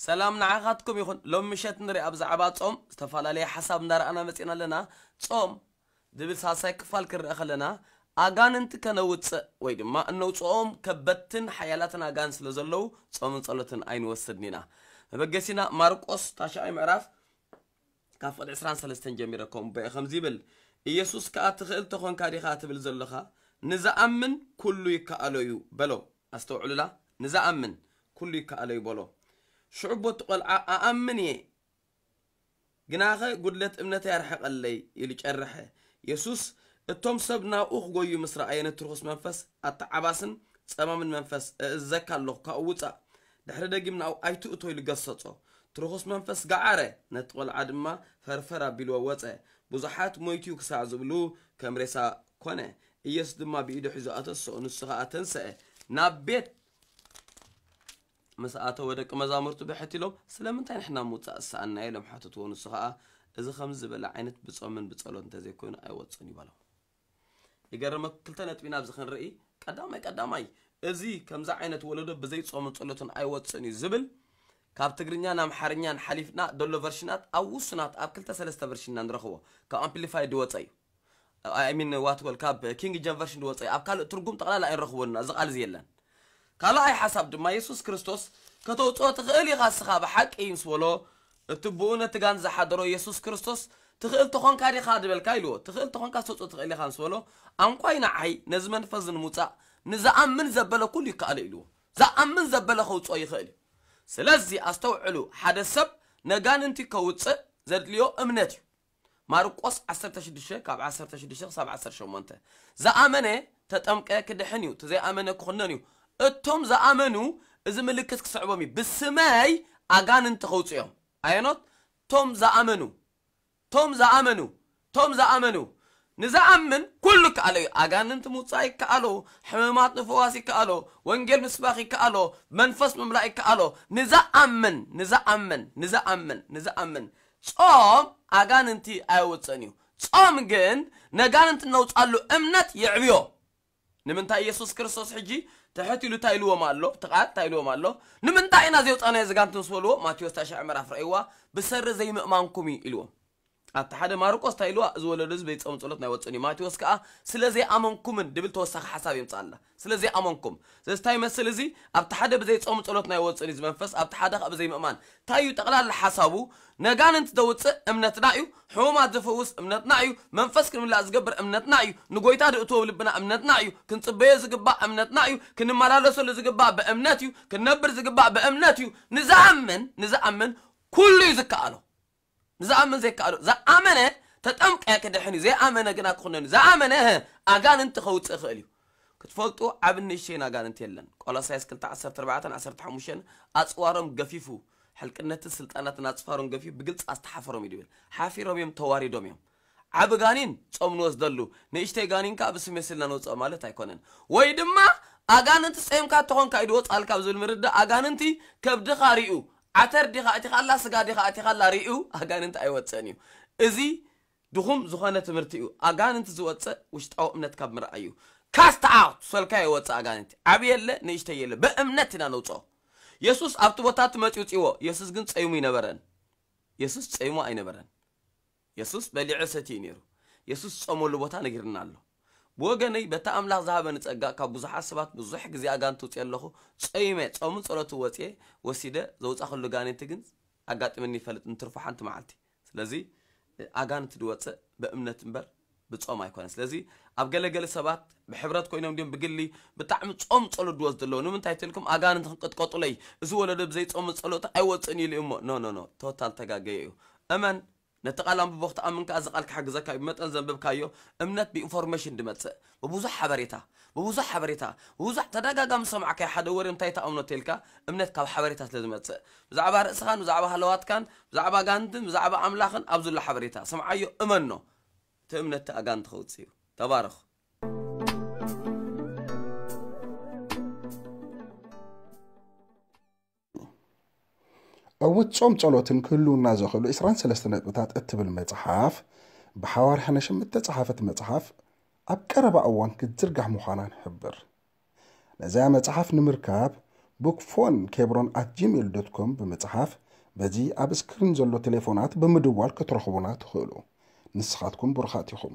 ሰላም ንዓኻትኩም ይኹን። ሎም ምሸት ንሪኣ ብዛዕባ ጾም ዝተፈላለየ ሓሳብ እንዳረኣና መጺና ኣለና። ጾም ዝብል ሳልሳይ ክፋል ክንረአ ከለና ኣጋንንቲ ከነውጽእ ወይ ድማ እነውጽኦም ከበትን ሓያላትን ኣጋንንቲ ስለ ዘለዉ ጾምን ጸሎትን ኣይንወስድን ኢና። መበገሲና ማርቆስ ታሽዓይ ምዕራፍ ካብ ፍቕዲ ዕስራን ሰለስተን ጀሚረ ከምኡ በየ ከምዚ ይብል፣ ኢየሱስ ከኣ ትኽእል ተኾንካ ዲኻ ትብል ዘለኻ? ንዝኣምን ኩሉ ይከኣሎ እዩ በሎ። ኣስተውዕሉላ፣ ንዝኣምን ኩሉ ይከኣሎ እዩ በሎ። ሽዑ ቦቲ ቆልዓ ኣኣምን እየ ግናኸ ጉድለት እምነተይ ኣርሕቐለይ ኢሉ ጨርሐ። የሱስ እቶም ሰብ ናብኡ ክጎዩ ምስ ረኣየ ነቲ ርኹስ መንፈስ ኣተዓባስን ጸማምን መንፈስ እእዘካ ኣለኹ ካብኡ ውጻእ፣ ድሕሪ ደጊም ናብኡ ኣይትእቶ ኢሉ ገሰጾ። እቲ ርኹስ መንፈስ ገዓረ፣ ነቲ ቆልዓ ድማ ፈርፈር ኣቢልዎ ወጸ። ብዙሓት ሞይቱ እዩ ክሳዕ ዝብሉ ከም ሬሳ ኮነ። ኢየሱስ ድማ ብኢዱ ሒዙ ኣተስኦ፣ ንሱ ኸኣ ተንስአ ናብ ቤት ምስ ኣተወ ደቂ መዛሙርቱ ብሕት ኢሎም ስለምንታይ ንሕና ምውጻእ ዝሰኣንና ኢሎም ሓተትዎ። ንሱ ኸኣ እዚ ከምዚ ዝበለ ዓይነት ብጾምን ብጸሎት እንተዘይኮይኑ ኣይወጽእን እዩ በሎም። ይገርመኩም ክልተ ነጥቢ ናብዚ ክንርኢ። ቀዳማይ ቀዳማይ እዚ ከምዚ ዓይነት ወለዶ ብዘይ ጾምን ጸሎትን ኣይወጽእን እዩ ዝብል ካብ ትግርኛን ኣምሓርኛን ሓሊፍና ደሎ ቨርሽናት ኣብ ውሱናት ኣብ ክልተ ሰለስተ ቨርሽን ኢና ንረኽቦ። ካብ ኣምፕሊፋይ ዝወጸ እዩ። I mean what well ካብ ኪንግ ጀም ቨርሽን ዝወጸ እዩ። ኣብ ካልእ ትርጉም ጠቕላላ ኣይንረኽቦን ኢና፣ እዚ ቃል እዚ የለን። ካልኣይ ሓሳብ ድማ የሱስ ክርስቶስ ከተውጽኦ ትኽእል ኢኻ እስኻ ብሓቂ ምስ በሎ እቲ ብኡ ነቲ ጋን ዝሓደሮ የሱስ ክርስቶስ ትኽእል ተኾንካ ዲኻ ዝበልካ ኢልዎ። ትኽእል ተኾንካ ተውጽኦ ትኽእል ኢኻ ምስ በሎ ኣንኳይ ንዓይ ነዚ መንፈስ ንምውጻእ ንዝኣምን ዘበለ ኩሉ ይከኣሎ ኢልዎ። ዝኣምን ዘበለ ከውጽኦ ይኽእል እዩ። ስለዚ ኣስተውዕሉ፣ ሓደ ሰብ ነጋንንቲ ከውጽእ ዘድልዮ እምነት እዩ። ማርቆስ ዓሰርተ ሽዱሽተ ካብ ዓሰርተ ሽዱሽተ ክሳብ ዓሰርተ ሸሞንተ ዝኣመነ ተጠምቀ ክድሕን እዩ፣ እቲ ዘይኣመነ ክኹነን እዩ። እቶም ዝኣመኑ እዚ ምልክት ክስዕቦም እዩ፣ ብስመይ ኣጋንንቲ ከውፅኦም። ኣየኖት? ቶም ዝኣመኑ፣ ቶም ዝኣመኑ፣ ቶም ዝኣመኑ። ንዝኣምን ኩሉ ይከኣሎ እዩ። ኣጋንንቲ ምውፃእ ይከኣሎ፣ ሕመማት ንፍዋስ ይከኣሎ፣ ወንጌል ምስባኽ ይከኣሎ፣ መንፈስ ምምላእ ይከኣሎ። ንዝኣምን፣ ንዝኣምን፣ ንዝኣምን፣ ንዝኣምን ጾም ኣጋንንቲ ኣየውፅእን እዩ። ጾም ግን ነጋንንቲ እነውፃሉ እምነት የዕብዮ። ንምንታይ ኢየሱስ ክርስቶስ ሕጂ ትሕት ኢሉ እንታይ ኢልዎም ኣሎ? እቲ ቃል እንታይ ኢልዎም ኣሎ? ንምንታይ ኢና ዘውፃናዮ ዘጋንንቲ ምስ በልዎ፣ ማቴዎስ ታሽዐ ምዕራፍ ረእይዋ፣ ብሰሪ ዘይምእማንኩም እዩ ኢልዎም። ኣብቲ ሓደ ማርቆስ እንታይ ኢልዋ? እዚ ወለዶ እዚ በይጾም ጸሎት ናይ ወፅእን እዩ። ማቴዎስ ከዓ ስለ ዘይኣመንኩምን ድብል ተወሳኺ ሓሳብ የምፅኣላ። ስለ ዘይኣመንኩም። ስለዚ እንታይ ይመስል እዚ? ኣብቲ ሓደ ብዘይ ጾም ጸሎት ናይ ወፅእን እዩ እዚ መንፈስ፣ ኣብቲ ሓደ ከዓ ብዘይ ምእማን። እንታይ እዩ ጠቕላላ ሓሳቡ? ነጋንንቲ ዘውፅእ እምነትና እዩ። ሕሙማት ዝፍውስ እምነትና እዩ። መንፈስ ክንምላእ ዝገብር እምነትና እዩ። ንጎይታ ዝእትዎ ልብና እምነትና እዩ። ክንጽበዮ ዝግባእ እምነትና እዩ። ክንመላለሰሉ ዝግባእ ብእምነት እዩ። ክንነብር ዝግባእ ብእምነት እዩ። ንዝኣምን፣ ንዝኣምን ኩሉ እዩ ዝከኣሎ። ንዝኣምን ዘይከኣሎ። ዝኣመነ ተጠምቀ ክድሕን እዩ። ዘይኣመነ ግና ክኹነን እዩ። ዝኣመነ ኣጋንንቲ ከውፅእ ይኽእል እዩ። ክትፈልጡ ዓብን ንእሽተይን ኣጋንንቲ የለን። ቆሎሳይስ ክልተ ዓሰርተ ኣርባዕተን ዓሰርተ ሓሙሽተን ኣፅዋሮም ገፊፉ፣ ሕልቅነትን ስልጣናትን ኣፅፋሮም ገፊፉ ብግልፂ ኣስተሓፈሮም እዩ ዝብል። ሓፊሮም እዮም፣ ተዋሪዶም እዮም። ዓቢ ጋኒን ጾም ንወስደሉ፣ ንእሽተይ ጋኒን ከኣ ብስም የስልና ንወጽኦ ማለት ኣይኮነን። ወይ ድማ ኣጋንንቲ ጸይምካ ተኾንካ እዩ ዝወጽኣልካ ኣብ ዝብል ምርዳእ ኣጋንንቲ ከብድኻ ሪኡ፣ ዓተር ዲኻ ኣቲኻላ፣ ስጋ ዲኻ ኣቲኻላ ሪኡ ኣጋንንቲ ኣይወጽእን እዩ። እዚ ድኹም ዝኾነ ትምህርቲ እዩ። ኣጋንንቲ ዝወጽእ ውሽጣዊ እምነት ካብ ምርኣይ እዩ። ካስት ኣውት ሰልካ ይወጽእ ኣጋንንቲ። ዓቢ የለ ንእሽተይ የለ ብእምነት ኢና ነውጽኦ። የሱስ ኣብቲ ቦታ እቲ መጺኡ ውጽእዎ። የሱስ ግን ጸይሙ ኣይነበረን። የሱስ ጸይሙ ኣይነበረን። የሱስ በሊዑ ሰትዩ ነይሩ። የሱስ ዝጸመሉ ቦታ ነጊርና ኣሎ። ብወገነይ በታ ኣምላኽ ዝሃበኒ ጸጋ ካብ ብዙሓት ሰባት ብዙሕ ግዜ ኣጋንንቲ ውጽእ ኣለኹ። ጸይመ ጾምን ጸሎትን ወጽየ ወሲደ ዘውጻኹሉ ጋኔንቲ ግን ኣጋጢመኒ ይፈልጥ ንትርፎ ሓንቲ መዓልቲ። ስለዚ ኣጋንንቲ ዝወጽእ ብእምነት እምበር ብጾም ኣይኮነን። ስለዚ ኣብ ገለገለ ሰባት ብሕብረት ኮይኖም ድዮም ብግሊ ብጣዕሚ ጾም ጸሎት ድወስዱ ኣለዉ። ንምንታይ ትልኩም ኣጋንንቲ ክንቅጥቀጡለይ እዚ ወለዶ ብዘይ ጾም ጸሎት ኣይወጽእን ኢሉ እሞ ኖ ኖ ኖ ቶታል ተጋገየ እዩ። እመን ነቲ ቃል ኣንብቦ ክትኣምን ከኣ እዚ ቃል ክሕግዘካ እዩ። ብመጠን ዘንብብካዮ እምነት ብኢንፎርሜሽን ድመጽእ ብብዙሕ ሓበሬታ ብብዙሕ ሓበሬታ ብብዙሕ ተደጋጋሚ ዝሰማዕካዮ ሓደ ወረ እንታይ ተኣምኖ ተልካ እምነት ካብ ሓበሬታ ስለ ዝመጽእ ብዛዕባ ርእስኻን ብዛዕባ ሃለዋትካን ብዛዕባ ኣጋንንትን ብዛዕባ ኣምላኽን ኣብ ዘሎ ሓበሬታ ስምዓዮ እመኖ እቲ እምነት እቲ ኣጋንንቲ ከውጽእ እዩ። ተባረኹ። ዕውት ጾም ጸሎትን ክህልውና ዘኽእሉ ዕስራን ሰለስተ ነጥብታት እትብል መጽሓፍ ብሓዋርያ ሃነሽም እተጸሓፈት መጽሓፍ ኣብ ቀረባ እዋን ክትዝርጋሕ ምዃና ንሕብር። ነዚኣ መጽሓፍ ንምርካብ bookphone kebron at gmail dot com ብምጽሓፍ፣ በዚ ኣብ ስክሪን ዘሎ ቴሌፎናት ብምድዋል ክትረኽቡና ትኽእሉ። ንስኻትኩም ብሩኻት ኢኹም።